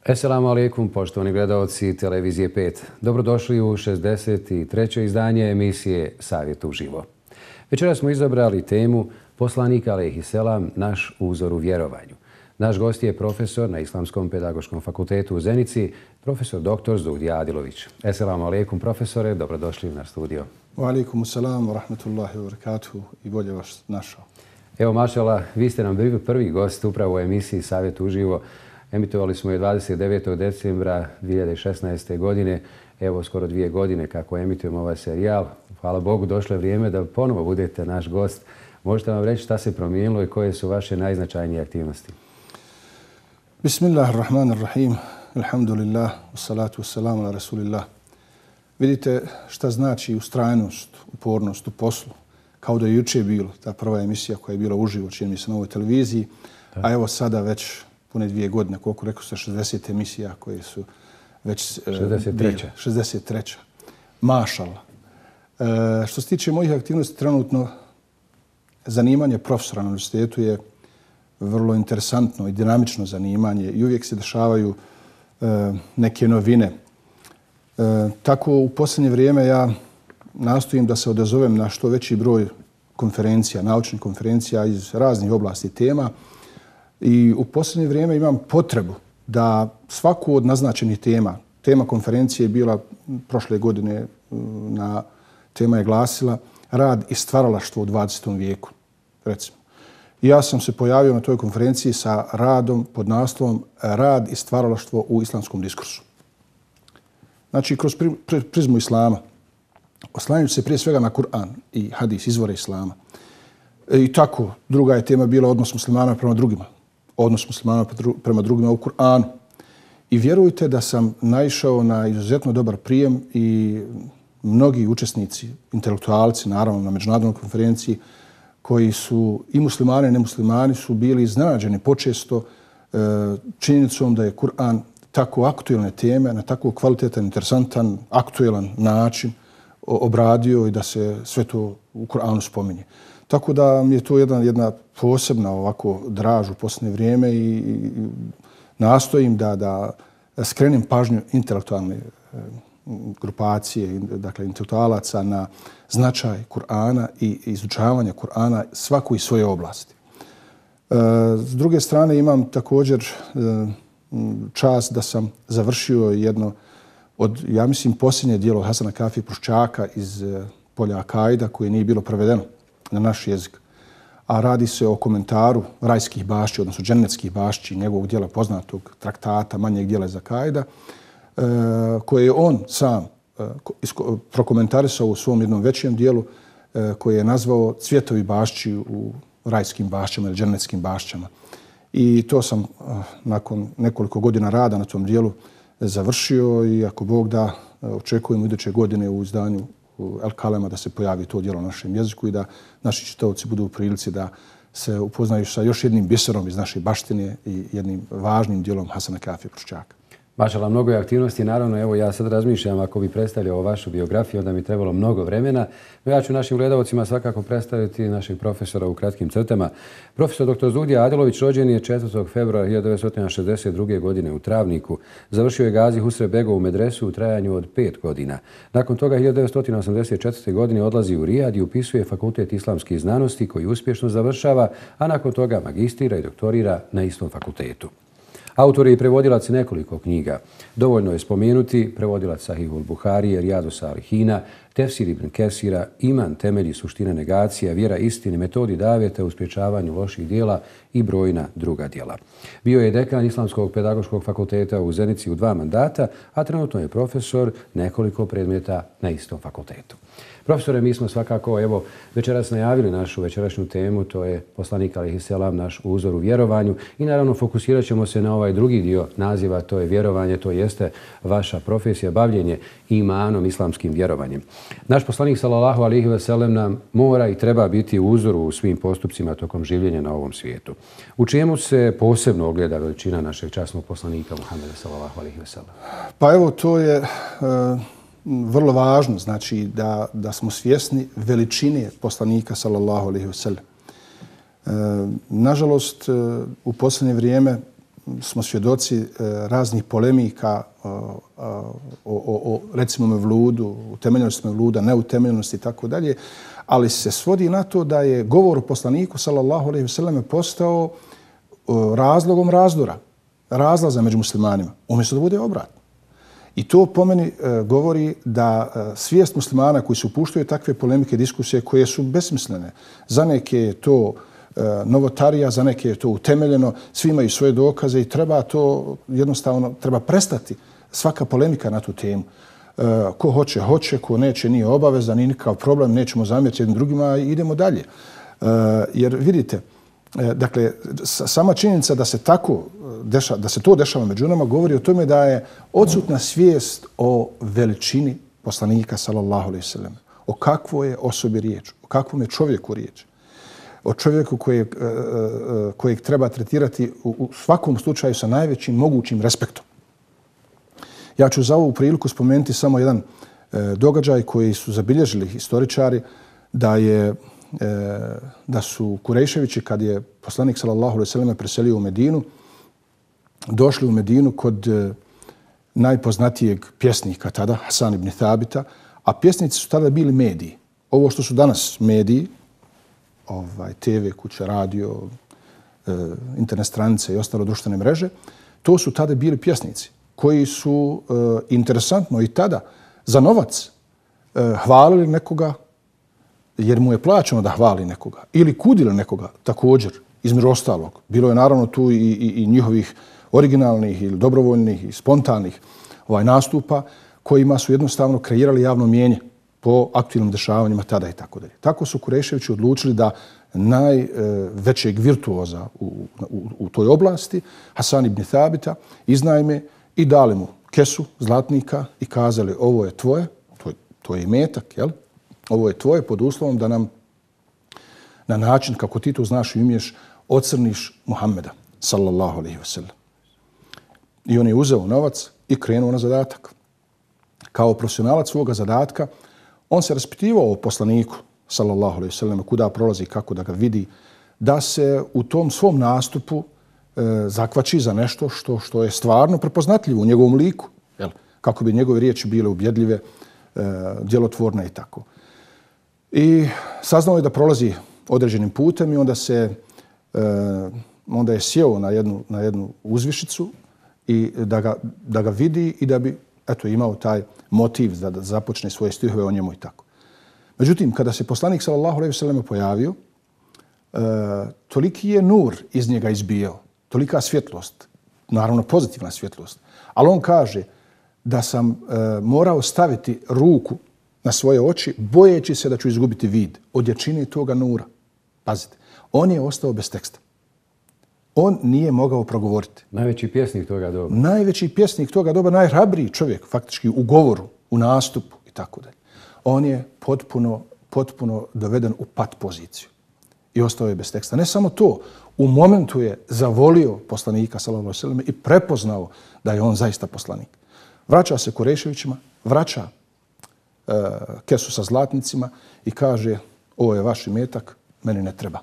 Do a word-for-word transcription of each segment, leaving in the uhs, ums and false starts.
Esselamu alaikum, poštovani gledalci Televizije pet. Dobrodošli u šezdeset treće izdanje emisije Savjet uživo. Večera smo izabrali temu Poslanik alejhiselam, naš uzor u vjerovanju. Naš gost je profesor na Islamskom pedagoškom fakultetu u Zenici, profesor doktor Zuhdija Adilović. Esselamu alaikum, profesore, dobrodošli u naš studio. Wa alaikum salam wa rahmatullahi wa barakatuhu i bolje vas našao. Evo, mašala, vi ste nam bili prvi gost upravo u emisiji Savjet uživo. Emitovali smo je dvadeset devetog decembra dvije hiljade šesnaeste. godine. Evo, skoro dvije godine kako emitujemo ovaj serijal. Hvala Bogu, došlo je vrijeme da ponovo budete naš gost. Možete vam reći šta se promijenilo i koje su vaše najznačajnije aktivnosti? Bismillahirrahmanirrahim. Alhamdulillah. Wassalatu wassalamu ala rasulillah. Vidite šta znači ustrajnost, upornost u poslu. Kao da je juče bilo ta prva emisija koja je bila uživo, čini mi se na ovoj televiziji. Da. A evo sada već pune dvije godine, koliko rekao se, šezdeset emisija koje su već šezdeset treća. šezdeset treća. Mašala. E, što se tiče mojih aktivnosti, trenutno zanimanje profesora na univerzitetu je vrlo interesantno i dinamično zanimanje i uvijek se dešavaju e, neke novine. E, tako u posljednje vrijeme ja nastojim da se odazovem na što veći broj konferencija, naučnih konferencija iz raznih oblasti tema. I u posljednje vrijeme imam potrebu da svaku od naznačenih tema, tema konferencije je bila prošle godine, na tema je glasila rad i stvaralaštvo u dvadesetom vijeku, recimo. I ja sam se pojavio na toj konferenciji sa radom pod naslovom Rad i stvaralaštvo u islamskom diskursu. Znači, kroz prizmu islama, oslanjajući se prije svega na Kur'an i hadis, izvore islama. I tako, druga je tema bila odnos muslimana prema drugima. Odnos muslimana prema drugima u Kur'anu. I vjerujte da sam naišao na izuzetno dobar prijem i mnogi učesnici, intelektualci, naravno na međunarodnoj konferenciji, koji su i muslimani i nemuslimani su bili iznenađeni počesto e, činjenicom da je Kur'an tako aktuelne teme, na tako kvalitetan, interesantan, aktuelan način obradio i da se sve to u Kur'anu spominje. Tako da mi je to jedna, jedna posebna ovako draž u posljednje vrijeme i, i nastojim da, da skrenem pažnju intelektualne e, grupacije, dakle intelektualaca na značaj Kur'ana i izučavanje Kur'ana svaku iz svoje oblasti. E, s druge strane imam također e, čast da sam završio jedno od, ja mislim, posljednje dijelo Hasana Kafije Pruščaka iz e, polja Akaida koje nije bilo prevedeno na naš jezik. A radi se o komentaru rajskih bašći, odnosno džennetskih bašći, njegovog dijela poznatog traktata, manjeg dijela iz Akaida, e, koje je on sam e, prokomentarisao u svom jednom većem dijelu, e, koje je nazvao Cvjetovi bašći u rajskim bašćama ili džennetskim bašćama. I to sam e, nakon nekoliko godina rada na tom dijelu završio i ako Bog da, očekujemo iduće godine u izdanju El Kalema da se pojavi to djelo na našem jeziku i da naši čitaoci budu u prilici da se upoznaju sa još jednim biserom iz naše baštine i jednim važnim djelom Hasana Kafije Pruščaka. Mašala, mnogo je aktivnosti. Naravno, evo ja sad razmišljam ako bi predstavljao vašu biografiju, onda mi trebalo mnogo vremena. No ja ću našim gledalcima svakako predstaviti našeg profesora u kratkim crtama. Profesor doktor Zuhdija Adilović rođen je četvrtog februara hiljadu devetsto šezdeset druge. godine u Travniku. Završio je Gazi Husrev-begovu medresu u trajanju od pet godina. Nakon toga hiljadu devetsto osamdeset četvrte. godine odlazi u Rijad i upisuje Fakultet islamskih znanosti koji uspješno završava, a nakon toga magistrira i doktorira na istom fakultetu. Autor je i prevodilac nekoliko knjiga. Dovoljno je spomenuti prevodilac Sahihul Buharije, Rijadu Salihina, Tefsir ibn Kesira, Iman, temelji suština negacija, vjera istine, metodi daveta u sprječavanju loših dijela i brojna druga dijela. Bio je dekan Islamskog pedagoškog fakulteta u Zenici u dva mandata, a trenutno je profesor nekoliko predmeta na istom fakultetu. Profesore, mi smo svakako evo večeras najavili našu večerašnju temu, to je Poslanik alejhiselam, naš uzor u vjerovanju i naravno fokusirat ćemo se na ovaj drugi dio naziva, to je vjerovanje, to jeste vaša profesija, bavljenje imanom, islamskim vjerovanjem. Naš poslanik sallallahu alejhi ve sellem nam mora i treba biti uzor u svim postupcima tokom življenja na ovom svijetu. U čemu se posebno ogleda veličina našeg časnog poslanika Muhameda sallallahu alejhi ve sellem? Pa evo, to je uh... vrlo važno, znači da, da smo svjesni veličine poslanika sallallahu alejhi ve sellem. E, nažalost, u posljednje vrijeme smo svjedoci raznih polemika o, o, o, o recimo mevludu, utemeljenosti mevluda, neutemeljenosti i tako dalje, ali se svodi na to da je govor o poslaniku sallallahu alejhi ve selleme postao razlogom razdora, razlaza među muslimanima, umjesto da bude obratno. I to po meni e, govori da e, svijest muslimana koji se upuštaju takve polemike, diskusije koje su besmislene. Za neke je to e, novotarija, za neke je to utemeljeno, svi imaju svoje dokaze i treba to jednostavno, treba prestati svaka polemika na tu temu. E, ko hoće, hoće, ko neće, nije obavezan, nije nikakav problem, nećemo zamjeriti jednim drugima i idemo dalje. E, jer vidite, dakle, sama činjenica da se tako deša, da se to dešava među nama govori o tome da je odsutna svijest o veličini poslanika sallallahu alejhi ve sellem. O kakvoj je osobi riječ, o kakvom je čovjeku riječ. O čovjeku kojeg, kojeg treba tretirati u svakom slučaju sa najvećim mogućim respektom. Ja ću za ovu priliku spomenuti samo jedan događaj koji su zabilježili historičari da je da su Kurejševići, kad je poslanik sallallahu alejhi ve sellem preselio u Medinu, došli u Medinu kod najpoznatijeg pjesnika tada, Hasan ibn Thabita, a pjesnici su tada bili mediji. Ovo što su danas mediji, ovaj, te ve, kuća, radio, internet stranice i ostalo društvene mreže, to su tada bili pjesnici koji su interesantno i tada za novac hvalili nekoga jer mu je plaćeno da hvali nekoga. Ili kudili nekoga također, između ostalog. Bilo je naravno tu i, i, i njihovih originalnih ili dobrovoljnih i spontanih ovaj, nastupa kojima su jednostavno kreirali javno mnijenje po aktualnim dešavanjima tada i tako dalje. Tako su Kureševići odlučili da najvećeg virtuoza u, u, u toj oblasti, Hasan ibn Thabita, iznajme i dali mu kesu zlatnika i kazali ovo je tvoje, to je, to je imetak, jel? Ovo je tvoje pod uslovom da nam na način kako ti to znaš i umiješ ocrniš Muhammeda sallallahu alejhi ve sellem. I on je uzeo novac i krenuo na zadatak. Kao profesionalac svoga zadatka on se raspitivao o poslaniku sallallahu alejhi ve sellem, kuda prolazi, kako da ga vidi, da se u tom svom nastupu e, zakvači za nešto što što je stvarno prepoznatljivo u njegovom liku, jel? Kako bi njegove riječi bile ubjedljive, e, djelotvorne i tako. I saznao je da prolazi određenim putem i onda se e, onda je sjeo na jednu, na jednu uzvišicu i da ga, da ga vidi i da bi eto, imao taj motiv da, da započne svoje stihove o njemu i tako. Međutim, kada se poslanik sallallahu alejhi ve sellem pojavio, e, toliki je nur iz njega izbijao, tolika svjetlost, naravno pozitivna svjetlost, ali on kaže da sam e, morao staviti ruku na svoje oči, bojeći se da ću izgubiti vid od jačine toga nura. Pazite, on je ostao bez teksta. On nije mogao progovoriti. Najveći pjesnik toga doba. Najveći pjesnik toga doba, najhrabriji čovjek faktički u govoru, u nastupu i tako dalje. On je potpuno, potpuno doveden u pat poziciju i ostao je bez teksta. Ne samo to, u momentu je zavolio poslanika sallallahu alejhi ve sellem i prepoznao da je on zaista poslanik. Vraća se Kureševićima, vraća uh, kesu sa zlatnicima i kaže ovo je vaš imetak, meni ne treba.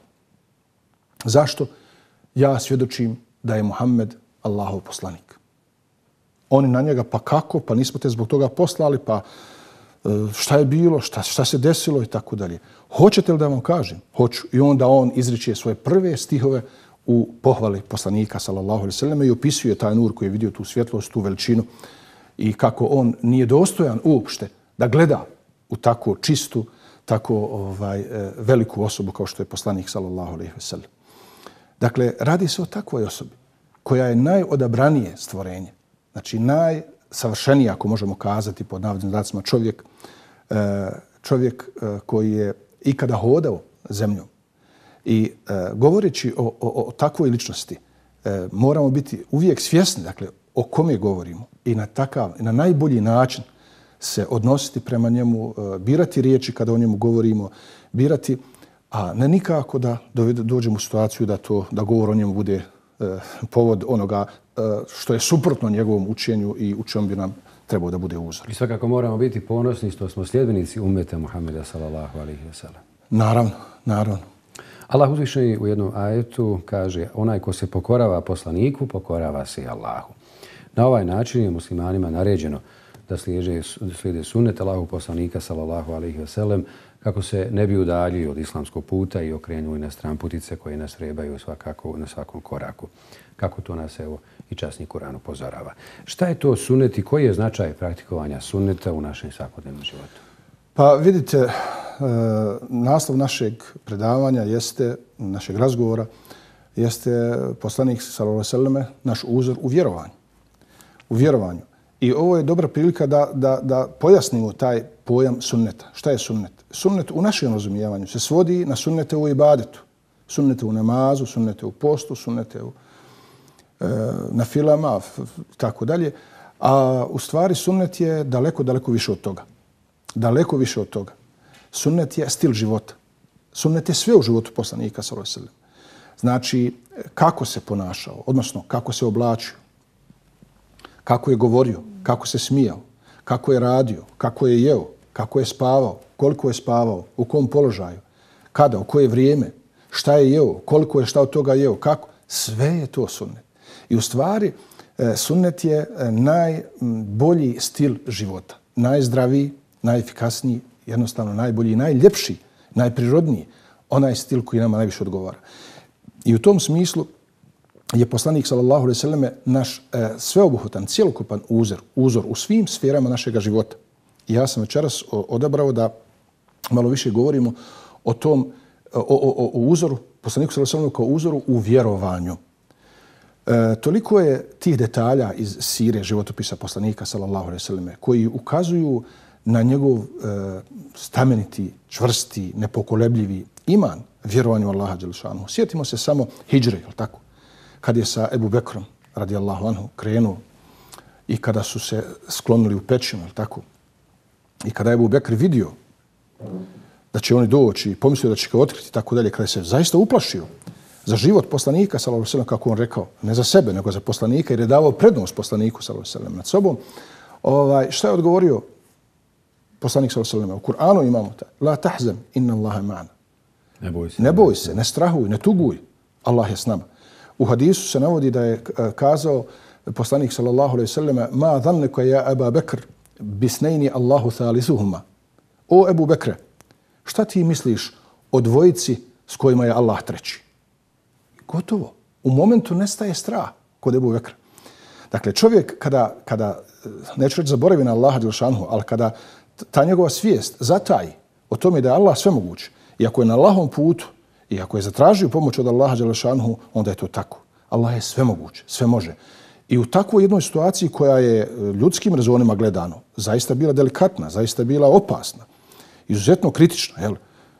Zašto? Ja svjedočim da je Muhammed Allahov poslanik. Oni na njega, pa kako, pa nismo te zbog toga poslali, pa šta je bilo, šta, šta se desilo i tako dalje. Hoćete li da vam kažem? Hoću. I onda on izriče svoje prve stihove u pohvali poslanika sallallahu alejhi ve selleme i opisuje taj nur koji je vidio tu svjetlost, tu veličinu i kako on nije dostojan uopšte da gleda u tako čistu, tako ovaj, veliku osobu kao što je poslanik sallallahu alejhi ve sellem. Dakle, radi se o takvoj osobi koja je najodabranije stvorenje, znači najsavršenije, ako možemo kazati pod navodnim znacima, čovjek, čovjek koji je ikada hodao zemljom. I govoreći o, o, o takvoj ličnosti moramo biti uvijek svjesni, dakle, o kome govorimo i na takav, na najbolji način se odnositi prema njemu, birati riječi kada o njemu govorimo, birati, a ne nikako da dođemo u situaciju da to da govor o njemu bude eh, povod onoga eh, što je suprotno njegovom učenju i u čemu bi nam trebao da bude uzor. I svakako moramo biti ponosni što smo sljedbenici ummeta Muhammeda sallallahu alejhi ve sellem. Naravno, naravno. Allah uzvišeni u jednom ajetu kaže onaj ko se pokorava poslaniku, pokorava se i Allahu. Na ovaj način je muslimanima naređeno da slijede, slijede sunnet Allahu poslanika sallallahu alejhi ve sellem kako se ne bi udaljili od islamskog puta i okrenuli na stranputice koje nas vrebaju svakako na svakom koraku. Kako to nas evo i časni Kur'an upozorava. Šta je to sunnet i koji je značaj praktikovanja sunneta u našem svakodnevnom životu? Pa vidite, e, naslov našeg predavanja jeste, našeg razgovora, jeste poslanik sallallahu alejhi ve selleme, naš uzor u vjerovanju. U vjerovanju. I ovo je dobra prilika da, da, da pojasnimo taj pojam sunneta. Šta je sunnet? Sunnet u našem razumijevanju se svodi na sunnete u ibadetu. Sunnete u namazu, sunnete u postu, sunnete u, e, na filama, tako dalje. A u stvari sunnet je daleko, daleko više od toga. Daleko više od toga. Sunnet je stil života. Sunnet je sve u životu poslanika sallallahu alejhi ve sellem. Znači, kako se ponašao, odnosno kako se oblačio, kako je govorio, kako se smijao, kako je radio, kako je jeo, kako je spavao, koliko je spavao, u kom položaju, kada, u koje vrijeme, šta je jeo, koliko je šta od toga jeo, kako. Sve je to sunnet. I u stvari, sunnet je najbolji stil života. Najzdraviji, najefikasniji, jednostavno najbolji, najljepši, najprirodniji. Onaj stil koji nama najviše odgovara. I u tom smislu je poslanik sallallahu alejhi ve selleme naš e, sveobuhvatan, cjelokupan uzor, uzor u svim sferama našega života. I ja sam večeras odabrao da malo više govorimo o tom, o, o, o uzoru, poslaniku sallallahu alejhi ve selleme kao uzoru u vjerovanju. E, toliko je tih detalja iz sire životopisa poslanika sallallahu alejhi ve selleme koji ukazuju na njegov e, stameniti, čvrsti, nepokolebljivi iman vjerovanju Allaha dželle šanuhu. Sjetimo se samo hidžre, je li tako? Kad je sa Ebu Bekrom, radijallahu anhu, krenuo i kada su se sklonili u pećinu, je li tako? I kada je Ebu Bekr vidio da će oni doći i pomislio da će ga otkriti, tako dalje, kada je se zaista uplašio za život poslanika, sallallahu alejhi ve sellem, kako on rekao, ne za sebe, nego za poslanika, jer je davao prednost poslaniku, sallallahu alejhi ve sellem, nad sobom, ovaj, šta je odgovorio poslanik sallallahu alejhi ve sellem? U Kur'anu imamo ta, la tahzan, inna Allaha ma'ana. Ne boj se, ne boj se, ne strahuj, ne tuguj, Allah je s nama. U hadisu se navodi da je kazao poslanik sallallahu alejhi ve selleme: "Ma dhannuka ya Aba Bekr bisnayni Allahu thalisuhuma." O Ebu Bekre, šta ti misliš o dvojici s kojima je Allah treći? Gotovo. U momentu nestaje strah kod Ebu Bekra. Dakle, čovjek kada, kada neću reći zaboravi na Allaha dželle šanuhu, ali kada ta njegova svijest zataji o tome da je Allah svemoguć i ako je na Allahovom putu i ako je zatražio pomoć od Allaha dželle šanuhu, onda je to tako. Allah je svemoguć, sve može. I u takvoj jednoj situaciji koja je ljudskim rezonima gledano zaista bila delikatna, zaista bila opasna, izuzetno kritična, jel?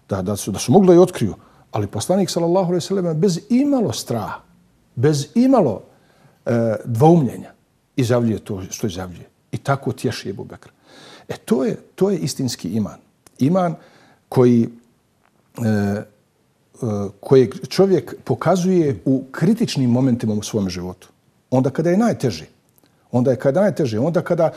Da, da, su, da su mogli da je otkriju, ali poslanik sallallahu alejhi ve sellem bez imalo straha, bez imalo e, dvoumljenja izjavljuje to što izjavljuje. I tako tješi Ebu Bekr. E to je, to je istinski iman. Iman koji e, kojeg čovjek pokazuje u kritičnim momentima u svom životu. Onda kada je najteže. Onda je kada je najteže. Onda kada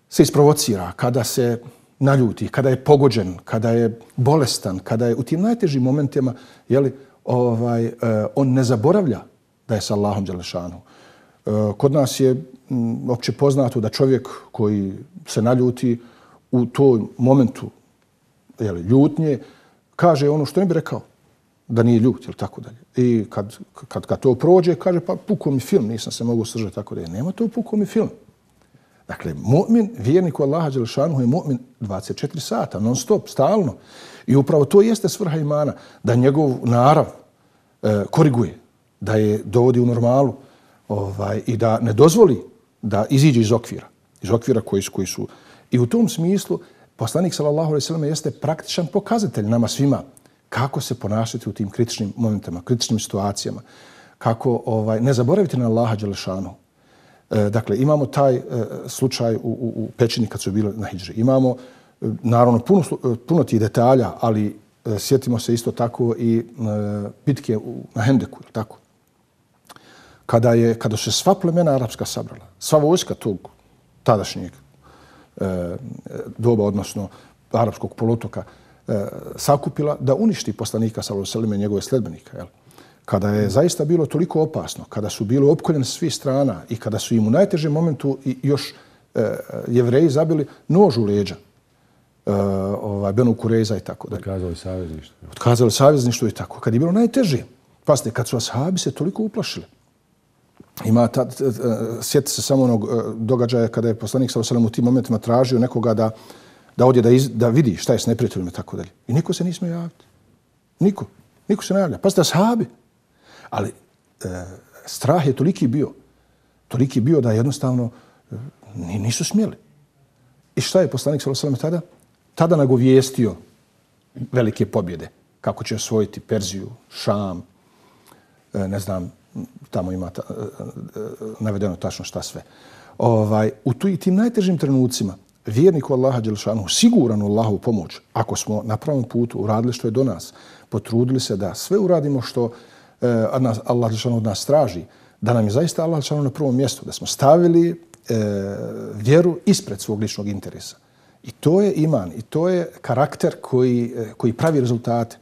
se isprovocira, kada se naljuti, kada je pogođen, kada je bolestan, kada je u tim najtežim momentima, jeli, ovaj, on ne zaboravlja da je sa Allahom dželle šanuhu. Kod nas je m, opće poznato da čovjek koji se naljuti u tom momentu, jeli, ljutnje, kaže ono što ne bi rekao da nije ljut, ili tako dalje. I kad, kad, kad to prođe, kaže, pa pukao mi film, nisam se mogao sržati, tako dalje. Nema to pukao mi film. Dakle, mu'min, vjernik u Allaha dželle šanuhu je mu'min dvadeset četiri sata, non stop, stalno. I upravo to jeste svrha imana, da njegov narav e, koriguje, da je dovodi u normalu ovaj, i da ne dozvoli da iziđe iz okvira, iz okvira koji su, koji su. I u tom smislu, poslanik sallallahu alejhi ve sellem jeste praktičan pokazatelj nama svima kako se ponašati u tim kritičnim momentima, kritičnim situacijama, kako ovaj, ne zaboraviti na Allaha dželle šanuhu. E, dakle, imamo taj e, slučaj u, u, u pećini kad su bili na hidži. Imamo, e, naravno, puno, puno tih detalja, ali e, sjetimo se isto tako i e, bitke u, na Hendeku, tako. Kada, je, kada su se sva plemena arapska sabrala, sva vojska tog tadašnjeg e, doba, odnosno arapskog poluotoka, e, sakupila da uništi poslanika sallallahu alejhi ve sellem i njegove sledbenike. Jel? Kada je zaista bilo toliko opasno, kada su bili opkoljeni s svih strana i kada su im u najtežem momentu još e, Jevreji zabili nož u leđa, e, ovaj, Benu Kureza i tako dalje. Otkazali savezništvo. Otkazali savezništvo i tako. Kad je bilo najteže, pasite, kad su ashabi se toliko uplašili. Ima ta, sjeti se samo onog događaja kada je poslanik sallallahu alejhi ve sellem u tim momentima tražio nekoga da da odje da, iz, da vidi šta je s neprijateljima i tako dalje. I niko se nije smio javiti. Niko. Niko se ne javlja. Pazite, ashabi. Ali e, strah je toliki bio. Toliki bio da jednostavno e, nisu smjeli. I šta je poslanik sallallahu alejhi ve sellem tada? Tada nagovijestio velike pobjede. Kako će osvojiti Perziju, Šam, e, ne znam, tamo ima ta, navedeno tačno šta sve. Ovaj, u tu, tim najtežim trenucima vjerniku Allaha dželešanu siguran u Allahu pomoć, ako smo na pravom putu uradili što je do nas, potrudili se da sve uradimo što eh, Allah dželešanu od nas traži, da nam je zaista Allah dželešanu na prvom mjestu, da smo stavili eh, vjeru ispred svog ličnog interesa. I to je iman, i to je karakter koji, eh, koji pravi rezultate,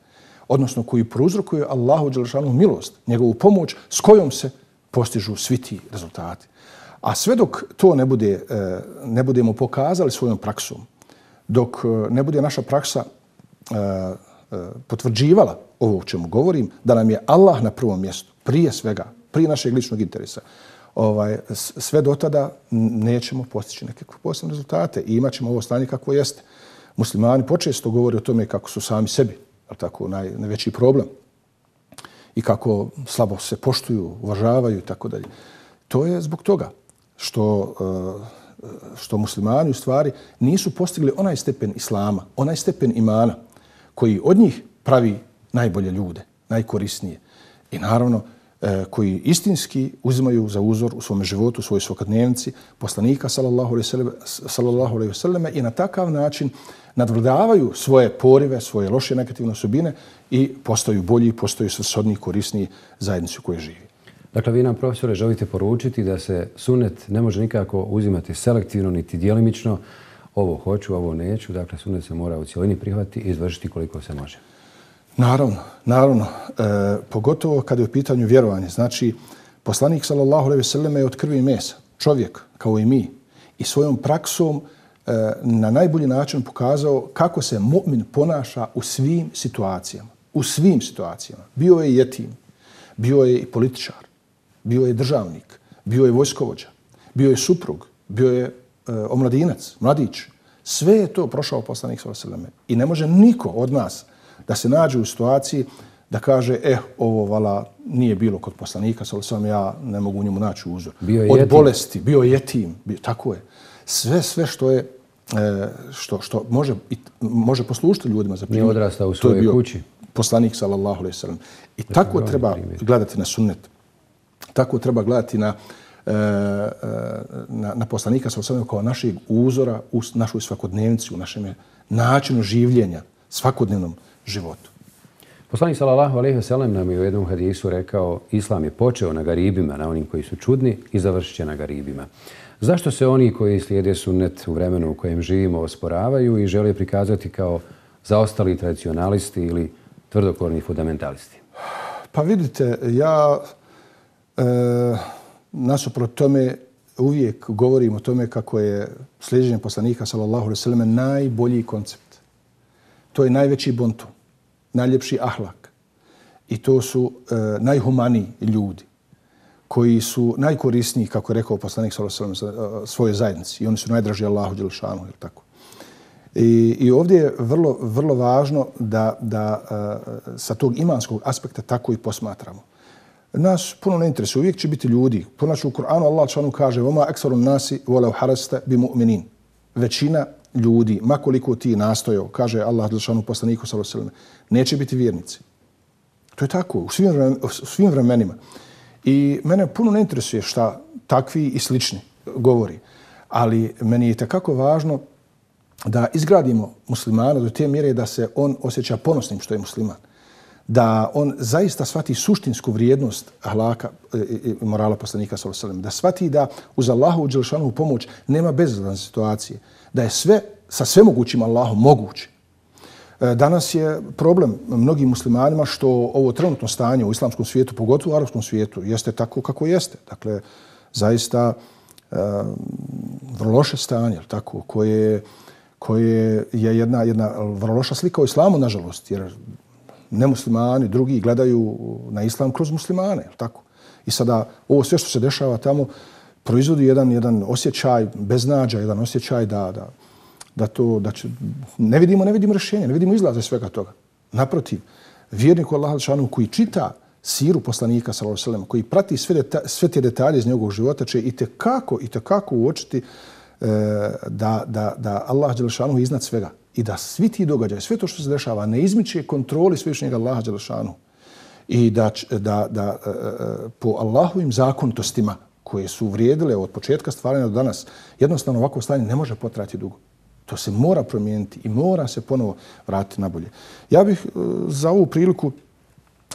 odnosno koji prouzrokuje Allahu dželešanu milost, njegovu pomoć s kojom se postižu svi ti rezultati. A sve dok to ne, bude, ne budemo pokazali svojom praksom, dok ne bude naša praksa potvrđivala ovo o čemu govorim, da nam je Allah na prvom mjestu, prije svega, prije našeg ličnog interesa, ovaj, sve do tada nećemo postići nekakve posebne rezultate i imat ćemo ovo stanje kako jeste. Muslimani počesto govore o tome kako su sami sebi, tako, naj, najveći problem i kako slabo se poštuju, uvažavaju i tako dalje. To je zbog toga što, što muslimani u stvari nisu postigli onaj stepen islama, onaj stepen imana koji od njih pravi najbolje ljude, najkorisnije. I naravno koji istinski uzimaju za uzor u svom životu, u svojoj svakodnevnici poslanika sallallahu alejhi ve selleme i na takav način nadvladavaju svoje porive, svoje loše negativne osobine i postaju bolji, postaju svrsodniji, korisniji zajednici u kojoj živi. Dakle, vi nam, profesore, želite poručiti da se sunnet ne može nikako uzimati selektivno niti djelimično. Ovo hoću, ovo neću. Dakle, sunnet se mora u cijelini prihvatiti i izvršiti koliko se može. Naravno, naravno. E, pogotovo kada je u pitanju vjerovanje. Znači, poslanik sallallahu alejhi ve selleme je od krvi i mesa. Čovjek, kao i mi. I svojom praksom e, na najbolji način pokazao kako se mu'min ponaša u svim situacijama. U svim situacijama. Bio je jetim, bio je i političar, bio je državnik, bio je vojskovođa, bio je suprug, bio je e, omladinac, mladić. Sve je to prošao poslanik sallallahu alejhi ve selleme. I ne može niko od nas da se nađe u situaciji da kaže, eh, ovo vala nije bilo kod poslanika, sallallahu alejhi ve selleme, ja ne mogu u njemu naći uzor. Od jetim. Bolesti, bio je jetim, bio, tako je. Sve, sve što je, e, što, što može, može poslušiti ljudima za primjer. Nije odrastao u svojoj kući. Poslanik sallallahu alejhi ve sellem. I to tako treba primjer. Gledati na sunnet. Tako treba gledati na, e, na, na poslanika sallallahu alejhi ve sellem kao našeg uzora u našoj svakodnevnici, u našem načinu življenja, svakodnevnom životu. Poslanik sallallahu alejhi ve sellem nam je u jednom hadisu rekao: Islam je počeo na garibima, na onim koji su čudni, i završit će na garibima. Zašto se oni koji slijede sunnet u vremenu u kojem živimo osporavaju i žele prikazati kao zaostali tradicionalisti ili tvrdokorni fundamentalisti? Pa vidite, ja e, nasuprot tome uvijek govorim o tome kako je slijeđenje poslanika sallallahu alejhi ve selleme najbolji koncept. To je najveći bonton, najljepši ahlak. I to su e, najhumaniji ljudi koji su najkorisniji, kako je rekao poslanik sallallahu alejhi ve sellem, svoje zajednici. I oni su najdraži Allahu dželešanu, je tako? I, I ovdje je vrlo, vrlo važno da, da uh, sa tog imanskog aspekta tako i posmatramo. Nas puno ne interesuje, uvijek će biti ljudi. Ponačno u Kur'anu Allah dželešanu kaže: "Voma ekserun nasi volev harasta bi mu'minin." Većina ljudi, makoliko ti nastojao, kaže Allah dželešanu poslaniku sallallahu alejhi ve sellem, neće biti vjernici. To je tako u svim, vremen, u svim vremenima. I mene puno ne interesuje šta takvi i slični govori. Ali meni je takako važno da izgradimo muslimana do te mjere da se on osjeća ponosnim što je musliman. Da on zaista shvati suštinsku vrijednost ahlaka i morala poslanika sallallahu alejhi ve sellem. Da shvati da uz Allahovu dželešanovu pomoć nema bezizlazne situacije. Da je sve sa svemogućim Allahom moguće. Danas je problem mnogim muslimanima što ovo trenutno stanje u islamskom svijetu, pogotovo u arapskom svijetu, jeste tako kako jeste. Dakle, zaista vrlo loše stanje, tako, koje, koje je jedna, jedna vrlo loša slika o islamu, nažalost, jer nemuslimani, drugi gledaju na islam kroz muslimane, tako. I sada ovo sve što se dešava tamo proizvodi jedan, jedan osjećaj beznađa, jedan osjećaj da, da, da to, da će, ne vidimo, ne vidimo rješenja, ne vidimo izlaze svega toga. Naprotiv, vjernik Allaha dželešanu koji čita siru poslanika sallallahu alejhi ve sellem, koji prati sve, deta, sve te detalje iz njegovog života, će i tekako, i tekako uočiti e, da, da, da Allah dželešanu je iznad svega i da svi ti događaji, sve to što se dešava, ne izmiče kontroli svevišnjeg Allaha dželešanu i da, da, da e, po Allahovim zakonitostima koje su vrijedile od početka stvaranja do danas, jednostavno ovako stanje ne može potrajati dugo. To se mora promijeniti i mora se ponovo vratiti na bolje. Ja bih uh, za ovu priliku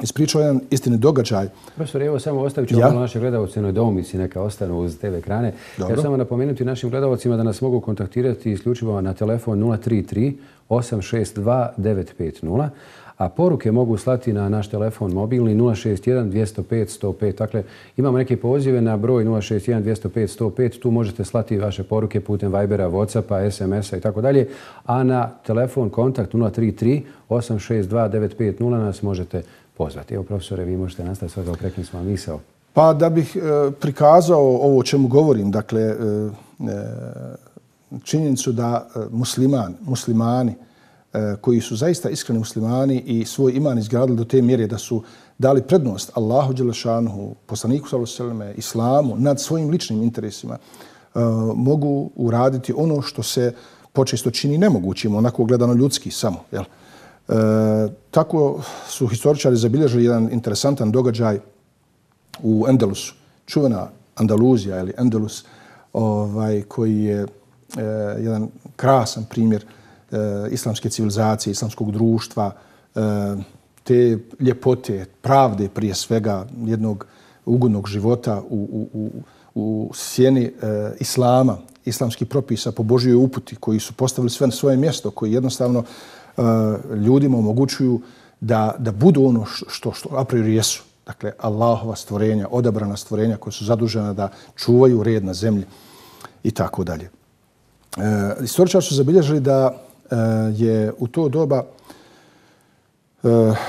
ispričao jedan istini događaj. Profesor, evo samo ostavit ću ja? malo naše gledalce na domici, neka ostanu uz te ve ekrane. Dobro. Ja samo napomenuti našim gledalcima da nas mogu kontaktirati isključivo na telefon nula tri tri osam šest dva devet pet nula, a poruke mogu slati na naš telefon mobilni nula šest jedan dvjesto pet sto pet. Dakle, imamo neke pozive na broj nula šest jedan dvjesto pet sto pet. Tu možete slati vaše poruke putem Vibera, Whatsappa, es em esa i tako dalje. A na telefon kontakt nula tri tri osam šest dva devet pet nula nas možete pozvati. Evo, profesore, vi možete nastaviti sve da okrekli smo vam misao. Pa da bih e, prikazao ovo o čemu govorim, dakle, e, činjenicu da musliman, muslimani koji su zaista iskreni muslimani i svoj iman izgradili do te mjere da su dali prednost Allahu dželešanuhu, poslaniku sallallahu alejhi ve selleme, islamu nad svojim ličnim interesima, mogu uraditi ono što se počesto čini nemogućim, onako gledano ljudski samo. Jel? E, tako su historičari zabilježili jedan interesantan događaj u Endelusu, čuvena Andaluzija ili Endelus, ovaj, koji je e, jedan krasan primjer islamske civilizacije, islamskog društva, te ljepote, pravde prije svega, jednog ugodnog života u, u, u sjeni islama, islamskih propisa po Božjoj uputi, koji su postavili sve na svoje mjesto, koji jednostavno ljudima omogućuju da, da budu ono što, što a priori jesu. Dakle, Allahova stvorenja, odabrana stvorenja koja su zadužena da čuvaju red na zemlji i tako dalje. Historičari su zabilježili da je u to doba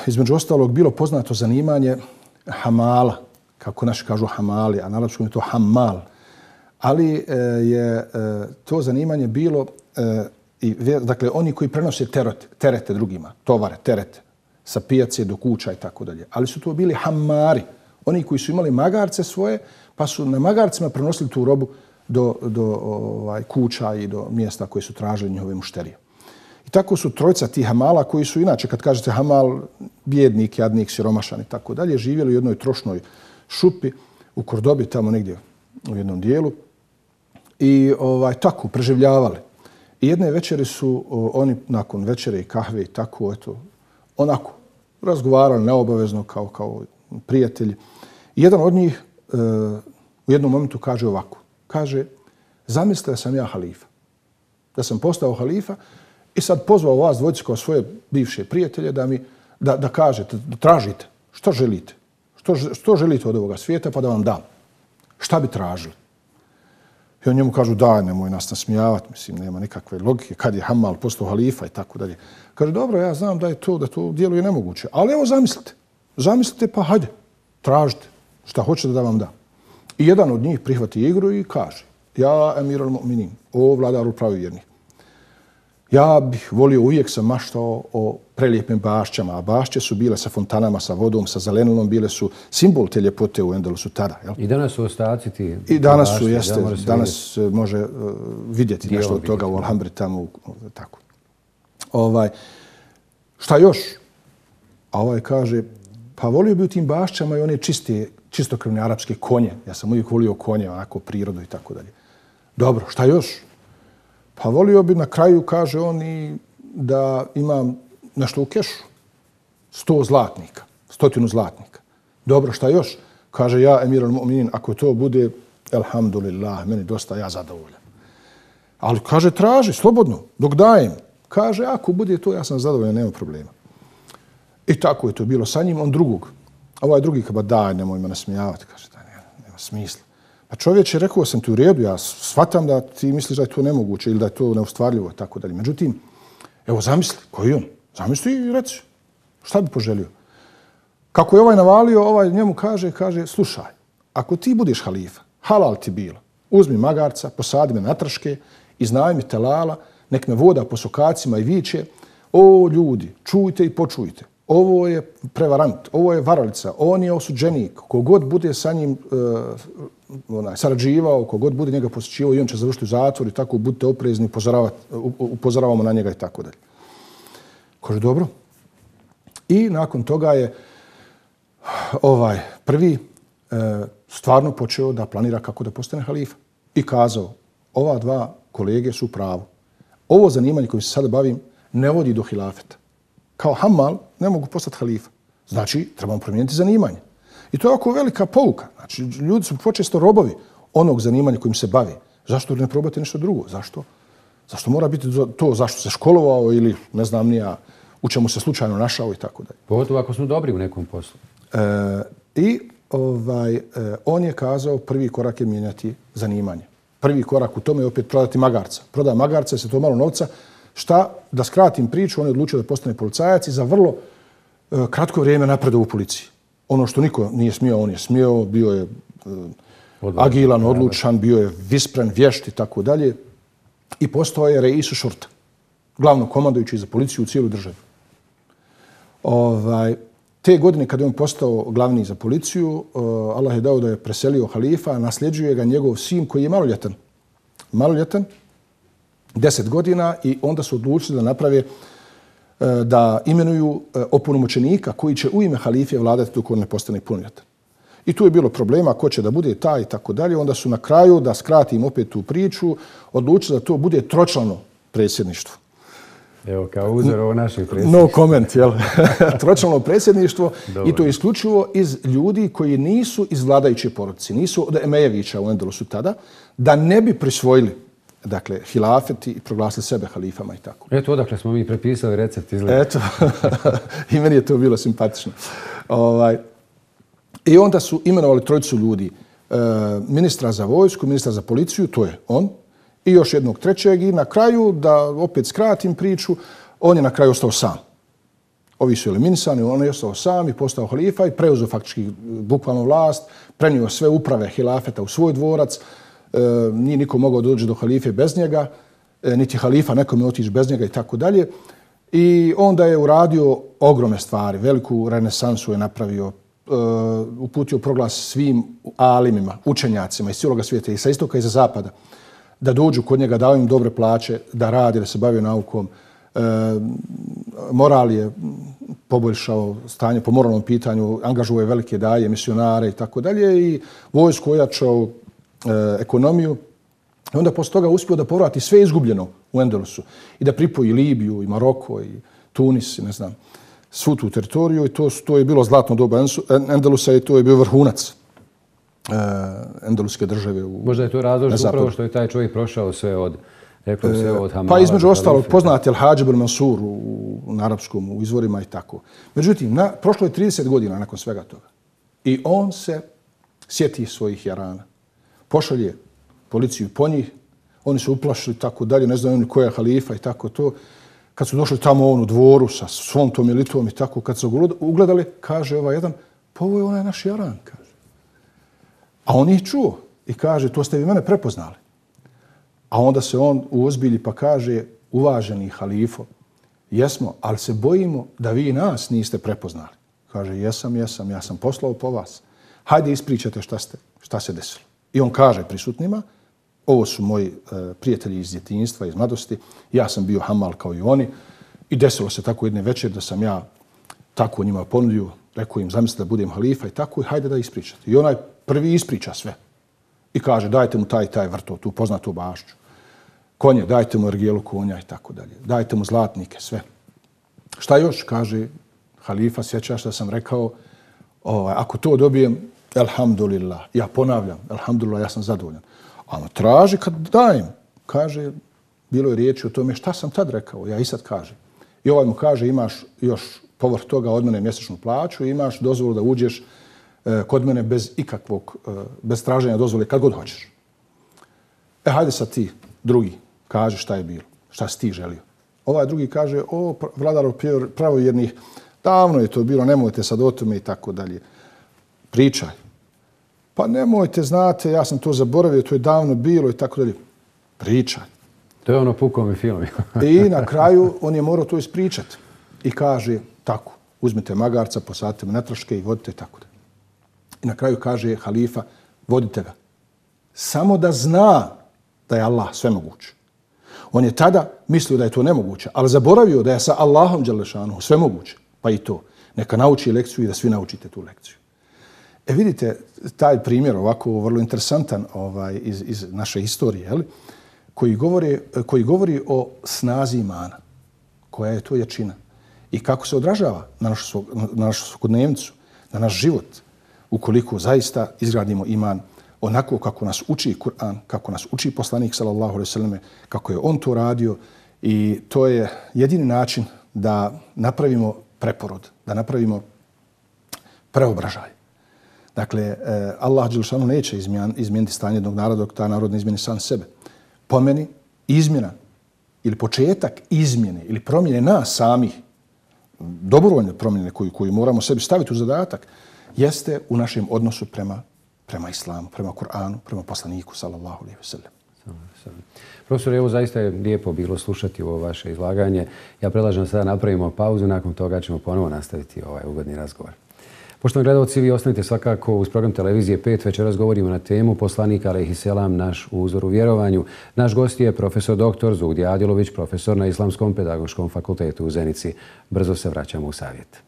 između ostalog bilo poznato zanimanje hamala, kako naši kažu hamali, a na arapskom je to hammal. Ali je to zanimanje bilo, i, dakle, oni koji prenose terete, terete drugima, tovare, terete, sa pijace do kuća i tako dalje. Ali su to bili hammari, oni koji su imali magarce svoje, pa su na magarcima prenosili tu robu do, do ovaj, kuća i do mjesta koje su tražili njihove mušterije. I tako su trojca tih hamala koji su inače, kad kažete hamal, bijednik, jadnik, siromašan i tako dalje, živjeli u jednoj trošnoj šupi u Kordobi, tamo negdje u jednom dijelu i ovaj, tako preživljavali. I jedne večeri su o, oni nakon večere i kahve i tako, eto, onako, razgovarali neobavezno kao, kao prijatelji. I jedan od njih e, u jednom momentu kaže ovako, kaže, zamislite da sam ja halifa, da sam postao halifa i sad pozvao vas dvojicu kao svoje bivše prijatelje da mi da, da kažete, da tražite što želite. Što, što želite od ovoga svijeta pa da vam dam. Šta bi tražili? I on njemu kažu daj, nemoj nas nasmijavati, mislim, nema nikakve logike, kad je Hamal postao halifa i tako dalje. Kaže, dobro, ja znam da je to, da to djeluje nemoguće, ali evo zamislite. Zamislite pa hajde, tražite šta hoćete da vam dam. I jedan od njih prihvati igru i kaže, ja emirul mu'minin, o vladaru pravovjernih. Ja bih volio, uvijek sam maštao o prelijepim bašćama, a bašće su bile sa fontanama, sa vodom, sa zelenilom, bile su simbol te ljepote u Endelusu tada. Jel? I danas su ostaci ti I danas bašće, su, jeste, da danas vidjeti. može uh, vidjeti Dio nešto od toga u Alhambri tamo. U, tako. Ovaj, šta još? A ovaj kaže, pa volio bi u tim bašćama i one čiste, čistokrvne arapske konje. Ja sam uvijek volio konje, onako prirodu i tako dalje. Dobro, šta još? Pa volio bi na kraju, kaže on, i da imam nešto u kešu. Sto zlatnika, stotinu zlatnika. Dobro, šta još? Kaže ja, emirul mu'minin, ako to bude, elhamdulillah, meni dosta, ja zadovoljan. Ali kaže, traži, slobodno, dok dajem. Kaže, ako bude to, ja sam zadovoljan, nema problema. I tako je to bilo sa njim. On drugog, ovaj drugi kao, daj, nemoj me nasmijavati. Kaže, daj, nema, nema smisla. Pa čovječ je rekao, sam ti u redu, ja shvatam da ti misliš da je to nemoguće ili da je to neustvarljivo, tako dalje. Međutim, evo zamisli, koji je on? Zamisli i reci, šta bi poželio? Kako je ovaj navalio, ovaj njemu kaže, kaže, slušaj, ako ti budeš halifa, halal ti bilo, uzmi magarca, posadi me na trške, iznajmi telala, nek me voda po sokacima i viče, o ljudi, čujte i počujte, ovo je prevarant, ovo je varalica, on je osuđenik, kogod bude sa njim uh, onaj, sarađivao, kogod bude njega posjećivao i on će završiti u zatvoru i tako, budite oprezni, upozoravamo na njega i tako dalje. Kaže, dobro. I nakon toga je ovaj prvi e, stvarno počeo da planira kako da postane halifa. I kazao, ova dva kolege su u pravu. Ovo zanimanje kojim se sada bavim ne vodi do hilafeta. Kao hamal ne mogu postati halifa. Znači, trebamo promijeniti zanimanje. I to je oko velika pouka. Znači, ljudi su počesto robovi onog zanimanja kojim se bave. Zašto ne probati nešto drugo? Zašto? Zašto mora biti to? Zašto se školovao ili ne znam ni ja u čemu se slučajno našao i tako dalje. Pogotovo ako smo dobri u nekom poslu. E, I ovaj, e, on je kazao prvi korak je mijenjati zanimanje. Prvi korak u tome je opet prodati magarca. Proda magarca, se to malo novca. Šta? Da skratim priču, on je odlučio da postane policajac i za vrlo e, kratko vrijeme napredao u policiji. Ono što niko nije smio, on je smio, bio je e, agilan, odlučan, bio je vispren, vješt i tako dalje. I postao je reisu šurta, glavno komandujući za policiju u cijeloj državi. Ovaj, te godine kada je on postao glavni za policiju, uh, Allah je dao da je preselio halifa, nasljeđuje ga njegov sin koji je maloljetan. Maloljetan, deset godina i onda su odlučili da naprave, uh, da imenuju uh, opunomoćenika koji će u ime halife vladati dok on ne postane punoljetan. I tu je bilo problema ko će da bude taj i tako dalje. Onda su na kraju, da skratim opet tu priču, odlučili da to bude tročlano predsjedništvo. Evo, kao uzor ovo naših predsjedništva. No comment, jel? Tročlano predsjedništvo i to je isključivo iz ljudi koji nisu iz vladajuće porodice, nisu od Emejevića u Endelusu tada, da ne bi prisvojili dakle, hilafet i proglasili sebe halifama i tako. Eto, odakle smo mi prepisali recept izgleda. Eto, i meni je to bilo simpatično. Ovaj, I onda su imenovali trojicu ljudi. E, ministra za vojsku, ministra za policiju, to je on, i još jednog trećeg i na kraju, da opet skratim priču, on je na kraju ostao sam. Ovi su eliminisani, on je ostao sam i postao halifa i preuzeo faktički bukvalno vlast, prenio sve uprave hilafeta u svoj dvorac, e, nije niko mogao doći do halife bez njega, e, niti halifa nekome otići bez njega i tako dalje. I onda je uradio ogromne stvari, veliku renesansu je napravio, uh, uputio proglas svim alimima, učenjacima iz cijelog svijeta i sa istoka i sa zapada, da dođu kod njega, dao im dobre plaće, da radi, da se bavio naukom. E, moral je poboljšao stanje po moralnom pitanju, angažuo je velike daje, misionare i tako dalje i vojsku ojačao, e, ekonomiju. I onda posle toga uspio da povrati sve izgubljeno u Endelusu i da pripoji Libiju i Maroko i Tunis i ne znam, svu tu teritoriju i to, to je bilo zlatno doba Endelusa i to je bio vrhunac uh, endeluske države. U, Možda je to razlog upravo što je taj čovjek prošao sve od, rekao sve od Hamala. Pa između ostalog poznat je Al-Hadž ibn Mansur u, u arapskom, u izvorima i tako. Međutim, na, prošlo je trideset godina nakon svega toga i on se sjeti svojih jarana. Pošalje policiju po njih, oni su uplašili tako dalje, ne znaju oni ko je halifa i tako to. Kad su došli tamo on u dvoru sa svom tom elitom i tako, kad su ugledali, kaže ovaj jedan, pa ovo je onaj naš jaran, kaže. A on ih čuo i kaže, to ste vi mene prepoznali. A onda se on uozbilji pa kaže, uvaženi halifo, jesmo, ali se bojimo da vi nas niste prepoznali. Kaže, jesam, jesam, ja sam poslao po vas. Hajde ispričajte šta, ste, šta se desilo. I on kaže prisutnima, ovo su moji e, prijatelji iz djetinjstva, iz mladosti, ja sam bio hamal kao i oni i desilo se tako jedne večer da sam ja tako njima ponudio, rekao im zamislite da budem halifa i tako i hajde da ispričate. I onaj prvi ispriča sve i kaže dajte mu taj taj vrto, tu poznatu bašću, konje, dajte mu ergijelu konja i tako dalje, dajte mu zlatnike, sve. Šta još, kaže halifa, sjećaš da sam rekao, ovaj, ako to dobijem, elhamdulillah, ja ponavljam, elhamdulillah, ja sam zadovoljan. A on traži kad dajem, kaže, bilo je riječi o tome šta sam tad rekao, ja i sad kažem. I ovaj mu kaže imaš još povrh toga od mene mjesečnu plaću i imaš dozvolu da uđeš e, kod mene bez ikakvog, e, bez traženja dozvole kad god hoćeš. E, hajde sad ti, drugi, kaže šta je bilo, šta si ti želio. Ovaj drugi kaže, o, vladaro pravovjernih, davno je to bilo, nemojte sad o tome i tako dalje. Pričaj. Pa nemojte, znate, ja sam to zaboravio, to je davno bilo i tako dalje. Pričaj. To je ono pukom i film. I na kraju on je morao to ispričati. I kaže, tako, uzmite magarca, posadite me na troške i vodite tako dalje. I na kraju kaže halifa, vodite ga. Samo da zna da je Allah svemoguć. On je tada mislio da je to nemoguće, ali zaboravio da je sa Allahom dželešanu svemoguće. Pa i to. Neka nauči lekciju i da svi naučite tu lekciju. E vidite, taj primjer ovako vrlo interesantan ovaj, iz, iz naše historije, jel? Koji, govori, koji govori o snazi imana. Koja je to jačina. I kako se odražava na našu, na našu svakodnevnicu, na naš život, ukoliko zaista izgradimo iman onako kako nas uči Kur'an, kako nas uči poslanik sallallahu alejhi ve selleme, kako je on to radio i to je jedini način da napravimo preporod, da napravimo preobražaj. Dakle, Allah dželešanu neće izmijeniti stanje jednog naroda dok ta narod ne izmijeni sam sebe. Po meni, izmjena ili početak izmjene ili promjene nas samih, dobrovoljne promjene koju, koju moramo sebi staviti u zadatak, jeste u našem odnosu prema prema islamu, prema Kur'anu, prema poslaniku, sallallahu alejhi ve sellem. Profesor, evo zaista je lijepo bilo slušati ovo vaše izlaganje. Ja predlažem sada napravimo pauzu, nakon toga ćemo ponovo nastaviti ovaj ugodni razgovor. Poštovani gledalci, vi ostanite svakako uz program Televizije pet. Večeras govorimo na temu poslanik alejhi selam, naš uzor u vjerovanju. Naš gost je profesor doktor Zugdija Adilović, profesor na Islamskom pedagoškom fakultetu u Zenici. Brzo se vraćamo u savjet.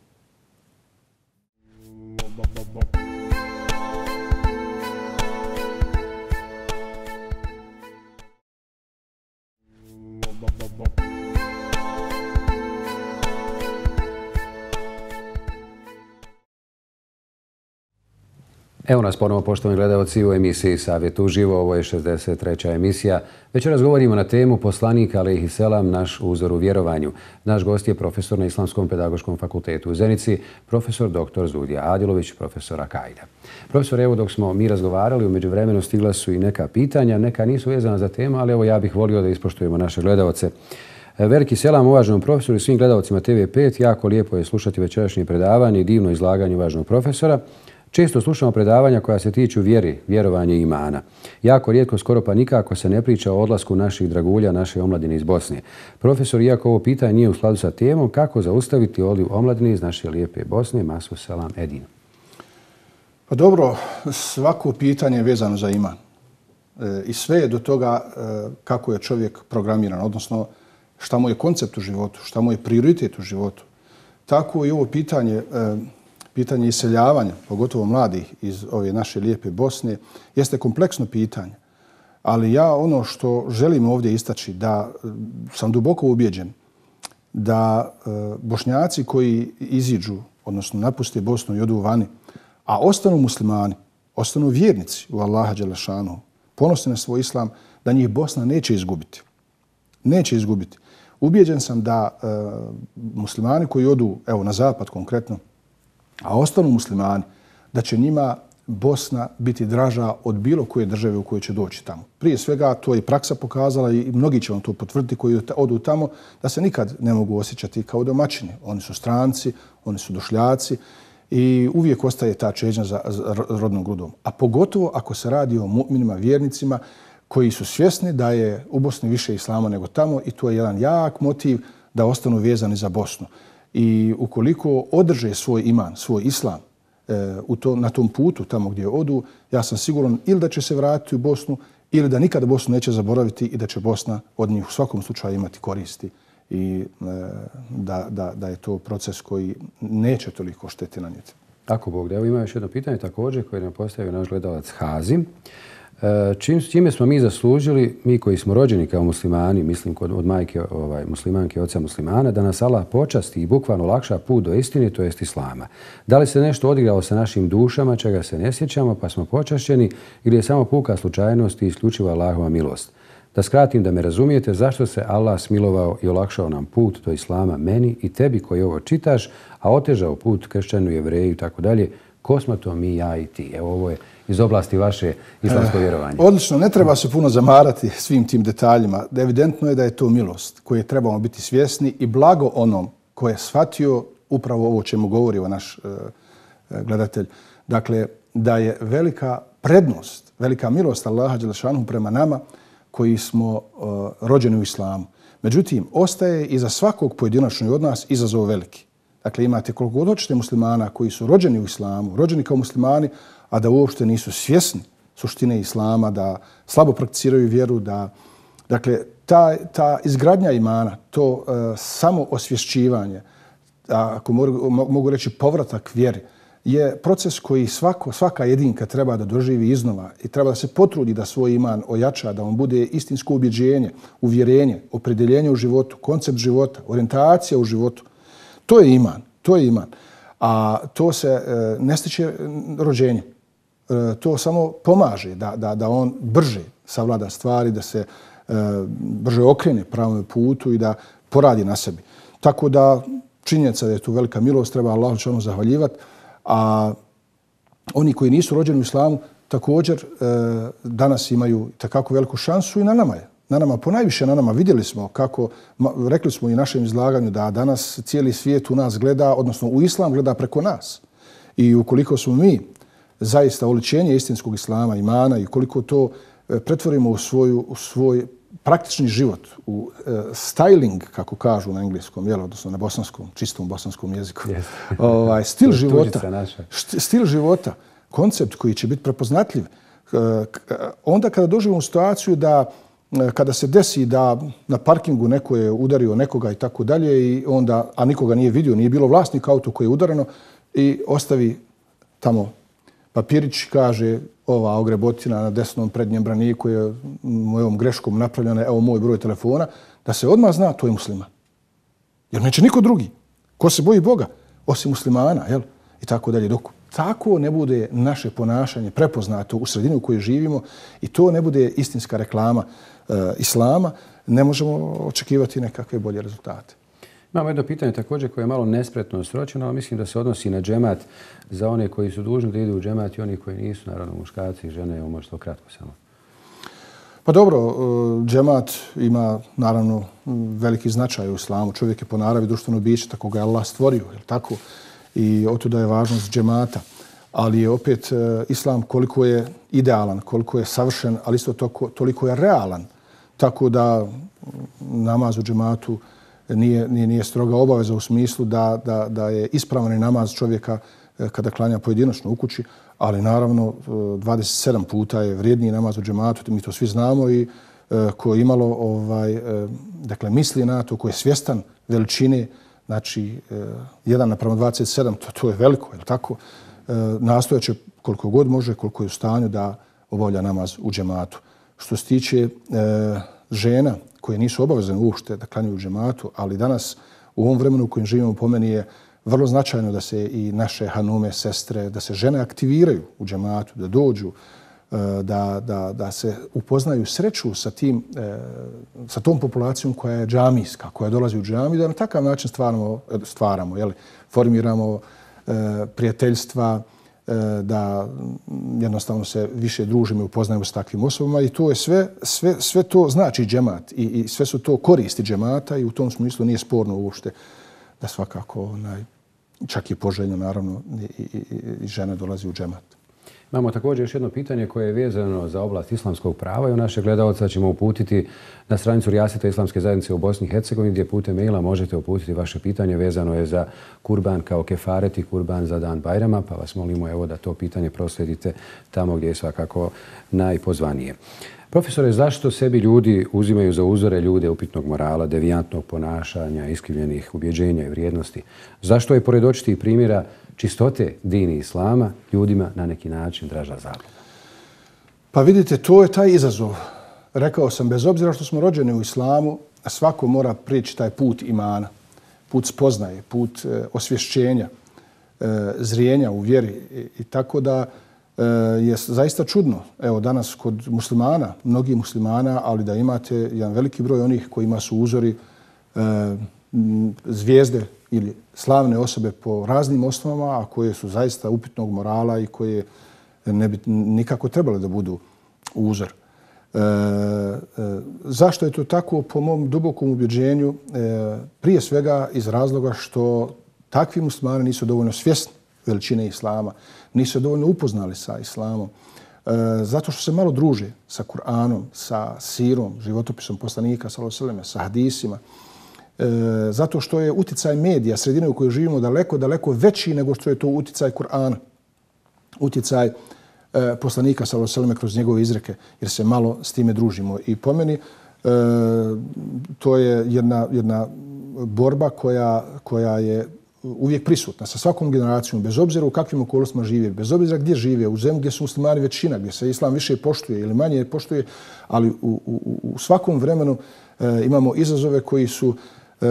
Evo nas ponovo, poštovani gledalci, u emisiji Savjet uživo. Ovo je šezdeset treća emisija. Večeras govorimo na temu poslanik alejhi selam, naš uzor u vjerovanju. Naš gost je profesor na Islamskom pedagoškom fakultetu u Zenici, profesor doktor Zudija Adilović, profesor Akaida. Profesor, evo dok smo mi razgovarali, u međuvremenu stigla su i neka pitanja, neka nisu vezana za temu, ali evo ja bih volio da ispoštujemo naše gledalce. Veliki selam uvaženom profesoru i svim gledalcima T V pet. Jako lijepo je slušati večerašnje predavanje i divno izlaganje uvaženog profesora. Često slušamo predavanja koja se tiču vjeri, vjerovanja i imana. Jako rijetko, skoro pa nikako se ne priča o odlasku naših dragulja, naše omladine iz Bosne. Profesor, iako ovo pitanje nije u skladu sa temom, kako zaustaviti odliv omladine iz naše lijepe Bosne? Masu selam, Edin. Pa dobro, svako pitanje je vezano za iman. E, I sve je do toga e, kako je čovjek programiran, odnosno šta mu je koncept u životu, šta mu je prioritet u životu. Tako i ovo pitanje... E, Pitanje iseljavanja, pogotovo mladih iz ove naše lijepe Bosne, jeste kompleksno pitanje. Ali ja ono što želim ovdje istaći, da sam duboko ubjeđen da Bošnjaci koji iziđu, odnosno napuste Bosnu i odu vani, a ostanu muslimani, ostanu vjernici u Allaha dželešanu, ponosni na svoj islam, da njih Bosna neće izgubiti. Neće izgubiti. Ubjeđen sam da e, muslimani koji odu, evo na zapad konkretno, a ostanu muslimani, da će njima Bosna biti draža od bilo koje države u kojoj će doći tamo. Prije svega, to je praksa pokazala i mnogi će vam to potvrditi koji odu tamo, da se nikad ne mogu osjećati kao domaćini. Oni su stranci, oni su došljaci i uvijek ostaje ta čežnja za rodnom grudom. A pogotovo ako se radi o mu'minima, vjernicima, koji su svjesni da je u Bosni više islama nego tamo i to je jedan jak motiv da ostanu vezani za Bosnu. I ukoliko održe svoj iman, svoj islam e, u to, na tom putu tamo gdje odu, ja sam siguran ili da će se vratiti u Bosnu ili da nikada Bosnu neće zaboraviti i da će Bosna od njih u svakom slučaju imati koristi i e, da, da, da je to proces koji neće toliko šteti nanijeti. Tako Bog da. Evo ima još jedno pitanje također koje nam postavio naš gledalac Hazim. Čim, čime smo mi zaslužili, mi koji smo rođeni kao muslimani, mislim kod, od majke ovaj, muslimanke, oca muslimana, da nas Allah počasti i bukvalno olakša put do istine, to jest islama. Da li se nešto odigralo sa našim dušama, čega se ne sjećamo, pa smo počašćeni, ili je samo puka slučajnost i isključiva Allahova milost? Da skratim, da me razumijete, zašto se Allah smilovao i olakšao nam put do Islama meni i tebi koji ovo čitaš, a otežao put kršćanu, jevreju i tako dalje. Ko smo to mi, ja i ti? Evo, ovo je iz oblasti vaše islamsko vjerovanje. Odlično, ne treba se puno zamarati svim tim detaljima. Evidentno je da je to milost koje trebamo biti svjesni i blago onom ko je shvatio upravo ovo čemu govori o naš uh, gledatelj. Dakle, da je velika prednost, velika milost Allaha dželešanu prema nama koji smo uh, rođeni u islamu. Međutim, ostaje i za svakog pojedinačno od nas izazov veliki. Dakle, imate koliko god hoćete muslimana koji su rođeni u islamu, rođeni kao muslimani, a da uopšte nisu svjesni suštine islama, da slabo prakticiraju vjeru, da, dakle, ta, ta izgradnja imana, to uh, samo osvješćivanje, ako mogu, mogu reći povratak vjeri, je proces koji svako, svaka jedinka treba da doživi iznova i treba da se potrudi da svoj iman ojača, da on bude istinsko ubjeđenje, uvjerenje, opredeljenje u životu, koncept života, orijentacija u životu. To je iman, to je iman. A to se e, ne stiče rođenje. E, to samo pomaže da, da, da on brže savlada stvari, da se e, brže okrene pravom putu i da poradi na sebi. Tako da činjenica da je tu velika milost, treba Allahu dželešanu zahvaljivati. A oni koji nisu rođeni u islamu također e, danas imaju takako veliku šansu i na nama je. Na nama, ponajviše na nama, vidjeli smo kako, rekli smo i u našem izlaganju da danas cijeli svijet u nas gleda, odnosno u islam gleda preko nas. I ukoliko smo mi zaista oličenje istinskog islama, imana i ukoliko to pretvorimo u, svoju, u svoj praktični život, u uh, styling, kako kažu na engleskom, jel, odnosno na bosanskom, čistom bosanskom jeziku. Yes. ovaj, stil života, stil života, koncept koji će biti prepoznatljiv. Uh, onda kada doživimo situaciju da uh, kada se desi da na parkingu neko je udario nekoga i tako dalje, i onda, a nikoga nije vidio, nije bilo vlasnika auto koje je udareno i ostavi tamo papirić, kaže ova ogrebotina na desnom prednjem braniku je mojom greškom napravljena, evo moj broj telefona, da se odmah zna to je musliman. Jer neće niko drugi. Ko se boji Boga? Osim muslimana, jel? I tako dalje. Dok tako ne bude naše ponašanje prepoznato u sredini u kojoj živimo i to ne bude istinska reklama e, islama, ne možemo očekivati nekakve bolje rezultate. Imamo jedno pitanje također koje je malo nespretno sročeno, ali mislim da se odnosi na džemat za one koji su dužni da idu u džemat i oni koji nisu, naravno muškarci i žene, evo možete kratko samo. Pa dobro, džemat ima naravno veliki značaj u islamu. Čovjek je po naravi društveno biće, tako ga je Allah stvorio, je li tako? I otuda je važnost džemata. Ali je opet islam koliko je idealan, koliko je savršen, ali isto toko, toliko je realan. Tako da namaz u džematu Nije, nije, nije stroga obaveza u smislu da, da, da je ispravan namaz čovjeka kada klanja pojedinačno u kući, ali naravno dvadeset sedam puta je vrijedniji namaz u džematu, mi to svi znamo i ko je imalo ovaj, dakle, misli na to, ko je svjestan veličine, znači jedan naprema dvadeset sedam, to, to je veliko, je li tako? Nastojat će koliko god može, koliko je u stanju da obavlja namaz u džematu. Što se tiče žena koje nisu obavezane uopšte da klanjaju u džematu, ali danas u ovom vremenu u kojem živimo po meni je vrlo značajno da se i naše hanume, sestre, da se žene aktiviraju u džematu, da dođu, da, da, da se upoznaju, sreću sa, tim, sa tom populacijom koja je džamijska, koja dolazi u džamiju, da na takav način stvaramo, stvaramo jeli, formiramo prijateljstva, da jednostavno se više družimo i upoznajemo s takvim osobama i to je sve, sve, sve to znači džemat i, i sve su to koristi džemata i u tom smislu nije sporno uopšte da svakako onaj, čak i poželjno naravno i, i, i žene dolazi u džemat. Imamo također još jedno pitanje koje je vezano za oblast islamskog prava i u naše gledalca ćemo uputiti na stranicu Rijaseta Islamske zajednice u Bosni i Hercegovini gdje putem maila možete uputiti vaše pitanje. Vezano je za kurban kao kefaret i kurban za dan Bajrama, pa vas molimo evo da to pitanje proslijedite tamo gdje je svakako najpozvanije. Profesore, zašto sebi ljudi uzimaju za uzore ljude upitnog morala, devijantnog ponašanja, iskrivljenih ubjeđenja i vrijednosti? Zašto je pored očitih primjera čistote dini islama ljudima na neki način draža zabluda? Pa vidite, to je taj izazov. Rekao sam, bez obzira što smo rođeni u islamu, svako mora prići taj put imana, put spoznaje, put e, osvješćenja, e, zrijenja u vjeri. I, i tako da je zaista čudno. Evo danas kod muslimana, mnogi muslimana, ali da imate jedan veliki broj onih kojima su uzori e, zvijezde ili slavne osobe po raznim osnovama, a koje su zaista upitnog morala i koje ne bi nikako trebale da budu uzor. E, e, zašto je to tako? Po mom dubokom ubjeđenju, e, prije svega iz razloga što takvi muslimani nisu dovoljno svjesni veličine islama, nisu dovoljno upoznali sa islamom, e, zato što se malo druže sa Kur'anom, sa sirom, životopisom poslanika, sallallahu alejhi ve selleme, sa hadisima, e, zato što je uticaj medija, sredine u kojoj živimo, daleko, daleko veći nego što je to uticaj Kur'ana, uticaj e, poslanika, sallallahu alejhi ve selleme, kroz njegove izreke, jer se malo s time družimo. I po meni e, to je jedna, jedna borba koja, koja je uvijek prisutna sa svakom generacijom, bez obzira u kakvim okolnostima žive, bez obzira gdje žive, u zemlji gdje su muslimani većina, gdje se islam više poštuje ili manje poštuje, ali u, u, u svakom vremenu e, imamo izazove koji su e,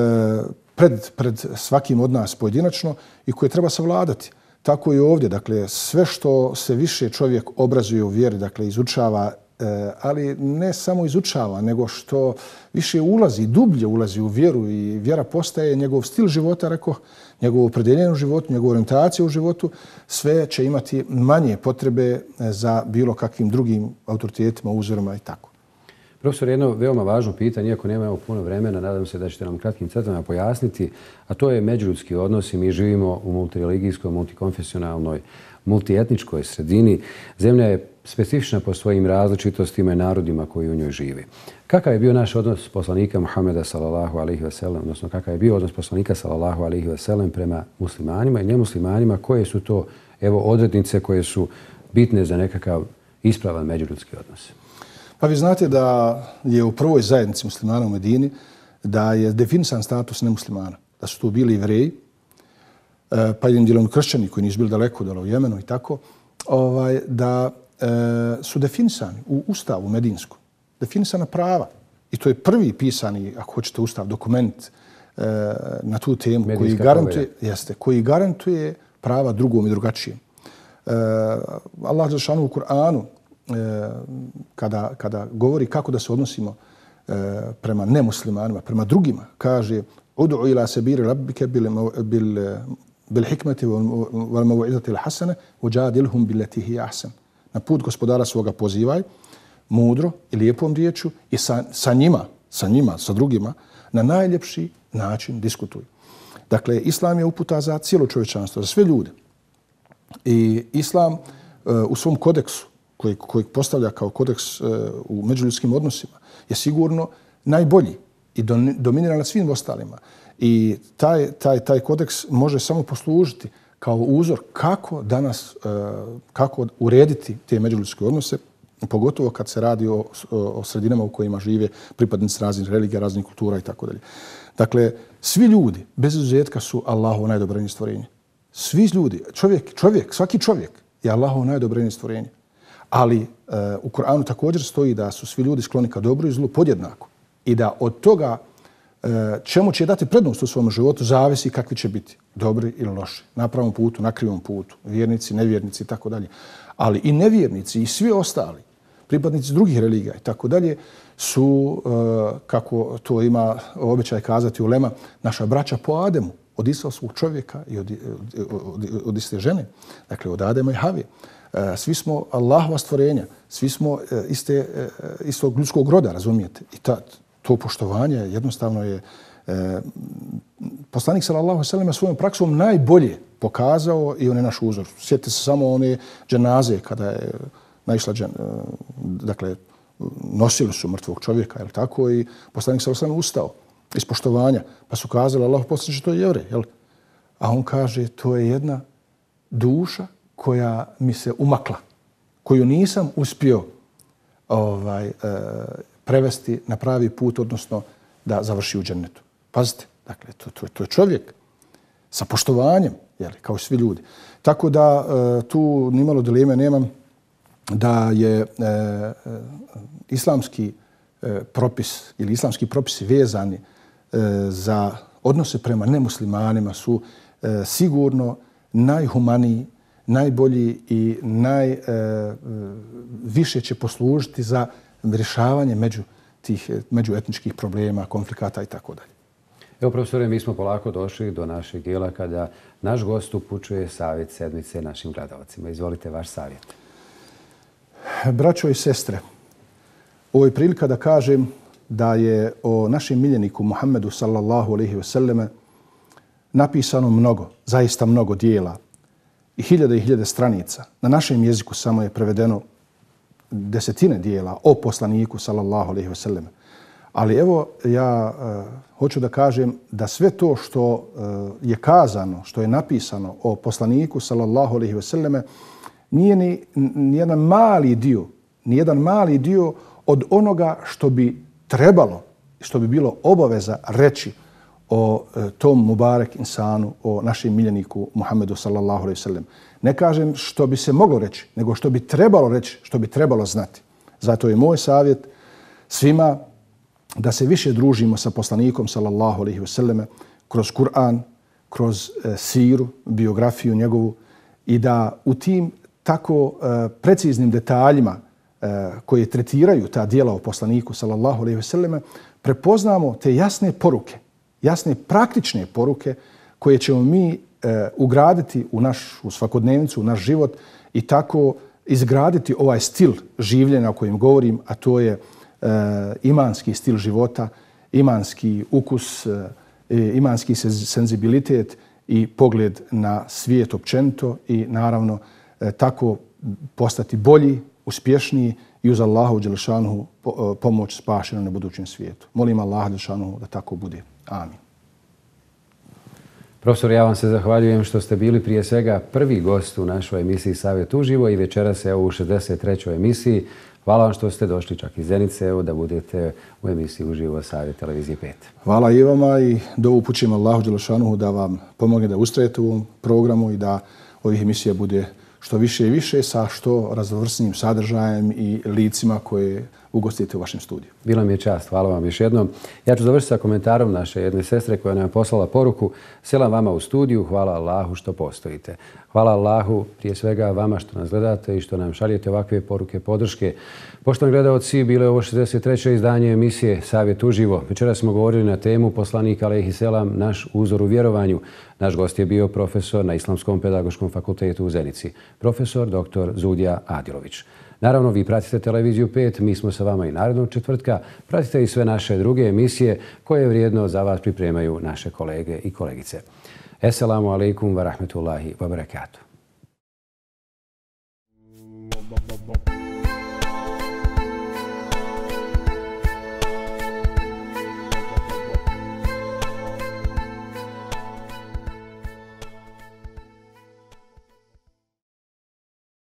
pred, pred svakim od nas pojedinačno i koje treba savladati. Tako i ovdje. Dakle, sve što se više čovjek obrazuje u vjeri, dakle, izučava, e, ali ne samo izučava, nego što više ulazi, dublje ulazi u vjeru i vjera postaje njegov stil života, rekao, njegovo opredjeljenje u životu, njegovu orijentaciju u životu, sve će imati manje potrebe za bilo kakvim drugim autoritetima, uzorima i tako. Profesor, jedno veoma važno pitanje, iako nemamo puno vremena, nadam se da ćete nam kratkim crtama pojasniti, a to je međuljudski odnosi. Mi živimo u multireligijskoj, multikonfesionalnoj, multietničkoj sredini. Zemlja je specifična po svojim različitostima i narodima koji u njoj žive. Kakav je bio naš odnos poslanika Muhameda sallallahu alejhi ve sellem, odnosno kakav je bio odnos poslanika sallallahu alejhi ve sellem prema muslimanima i nemuslimanima, koje su to evo odrednice koje su bitne za nekakav ispravan međuljudski odnos? Pa vi znate da je u prvoj zajednici muslimana u Medini da je definisan status nemuslimana, da su tu bili Jevreji, pa jednim dijelom kršćani koji nisu bili daleko, dole u Jemenu i tako, ovaj, da e, su definisani u Ustavu Medinskom, definisana prava. I to je prvi pisani, ako hoćete, Ustav, dokument e, na tu temu koji garantuje, jeste, koji garantuje prava drugom i drugačijem. E, Allah dželešanu u Kur'anu, e, kada, kada govori kako da se odnosimo e, prema nemuslimanima, prema drugima, kaže Ud'u ila sabili rabbike bil, bil, bil hikmeti wal maw'izati al hasana wajadilhum billati hi ahsan. Na put gospodara svoga pozivaj mudro i lijepom riječju i sa, sa njima, sa njima, sa drugima, na najljepši način diskutuj. Dakle, Islam je uputa za cijelo čovječanstvo, za sve ljude. I Islam uh, u svom kodeksu, koji, koji postavlja kao kodeks uh, u međuljudskim odnosima, je sigurno najbolji i dominira nad svim ostalima. I taj, taj, taj kodeks može samo poslužiti kao uzor kako danas, uh, kako urediti te međuljudske odnose, pogotovo kad se radi o, o sredinama u kojima žive pripadnici raznih religija, raznih kultura i tako dalje. Dakle, svi ljudi, bez izuzetka, su Allahovo najdobrenije stvorenje. Svi ljudi, čovjek, čovjek, svaki čovjek je Allahovo najdobrenije stvorenje. Ali e, u Kur'anu također stoji da su svi ljudi skloni ka dobru i zlu podjednako. I da od toga e, čemu će dati prednost u svom životu zavisi kakvi će biti. Dobri ili loši. Na pravom putu, na krivom putu. Vjernici, nevjernici i tako dalje. Ali i nevjernici i svi ostali, pripadnici drugih religija i tako dalje, su, kako to ima običaj kazati ulema, naša braća po Ademu, od islamskog čovjeka i od, od, od, od iste žene, dakle od Adema i Havije. Svi smo Allahova stvorenja, svi smo iste, istog ljudskog roda, razumijete? I ta, to poštovanje jednostavno je poslanik sallallahu alejhi ve sellem svojom praksom najbolje pokazao i on je naš uzor. Sjetite se samo one dženaze kada je naišla džen, dakle, nosili su mrtvog čovjeka, jel tako, i poslanik sallallahu alejhi ve sellem ustao iz poštovanja, pa su kazali Allahu poslaniče, to je Jevrej, jel? A on kaže, to je jedna duša koja mi se umakla, koju nisam uspio ovaj, e, prevesti na pravi put, odnosno da završi u džennetu. Pazite, dakle, to, to, to je čovjek sa poštovanjem, jel, kao svi ljudi. Tako da e, tu nimalo dileme nemam da je e, e, islamski e, propis ili islamski propisi vezani e, za odnose prema nemuslimanima su e, sigurno najhumaniji, najbolji i najviše će poslužiti za rješavanje među tih međuetničkih problema, konflikata i tako dalje. Evo, profesore, mi smo polako došli do našeg dijela kada naš gost upućuje savjet sedmice našim gledalcima. Izvolite vaš savjet. Braćo i sestre, ovo je prilika da kažem da je o našem miljeniku Muhammedu sallallahu alejhi ve selleme napisano mnogo, zaista mnogo dijela i hiljade i hiljade stranica. Na našem jeziku samo je prevedeno desetine dijela o poslaniku sallallahu alejhi ve selleme. Ali evo ja uh, hoću da kažem da sve to što uh, je kazano, što je napisano o poslaniku sallallahu alejhi ve selleme nije ni, ni jedan mali dio, ni jedan mali dio od onoga što bi trebalo, što bi bilo obaveza reći o uh, tom Mubarek insanu, o našem miljeniku Muhammedu sallallahu alejhi ve sellem. Ne kažem što bi se moglo reći, nego što bi trebalo reći, što bi trebalo znati. Zato je moj savjet svima da se više družimo sa poslanikom sallallahu alejhi ve selleme kroz Kur'an, kroz e, siru, biografiju njegovu i da u tim tako e, preciznim detaljima e, koje tretiraju ta dijela o poslaniku sallallahu alejhi ve selleme prepoznamo te jasne poruke, jasne praktične poruke koje ćemo mi e, ugraditi u našu svakodnevnicu, u naš život i tako izgraditi ovaj stil življenja o kojem govorim, a to je imanski stil života, imanski ukus, imanski senzibilitet i pogled na svijet općenito i naravno tako postati bolji, uspješniji i uz Allahu dželešanuhu pomoć spašeno na budućem svijetu. Molim Allaha dželešanuhu da tako bude. Amin. Profesor, ja vam se zahvaljujem što ste bili prije svega prvi gost u našoj emisiji Savjet uživo i večeras evo u šezdeset trećoj emisiji. Hvala vam što ste došli čak iz Zenice, evo da budete u emisiji uživo Savjet televizije pet. Hvala i vama i da upućujem Allahu dželešanuhu da vam pomogne da ustrajete u ovom programu i da ovih emisija bude što više i više sa što raznovrsnijim sadržajem i licima koje ugostite u vašem studiju. Bila mi je čast, hvala vam još jednom. Ja ću završiti sa komentarom naše jedne sestre koja nam je poslala poruku. Selam vama u studiju, hvala Allahu što postojite. Hvala Allahu prije svega vama što nas gledate i što nam šaljete ovakve poruke podrške. Poštovani gledaoci, bilo je ovo šezdeset treće izdanje emisije Savjet uživo. Večera smo govorili na temu poslanika alejhi selam, naš uzor u vjerovanju. Naš gost je bio profesor na Islamskom pedagoškom fakultetu u Zenici, profesor doktor Zudija Adilović. Naravno, vi pratite televiziju pet, mi smo sa vama i narednog četvrtka. Pratite i sve naše druge emisije koje vrijedno za vas pripremaju naše kolege i kolegice. Esselamu alaikum wa rahmetullahi wa barakatuh.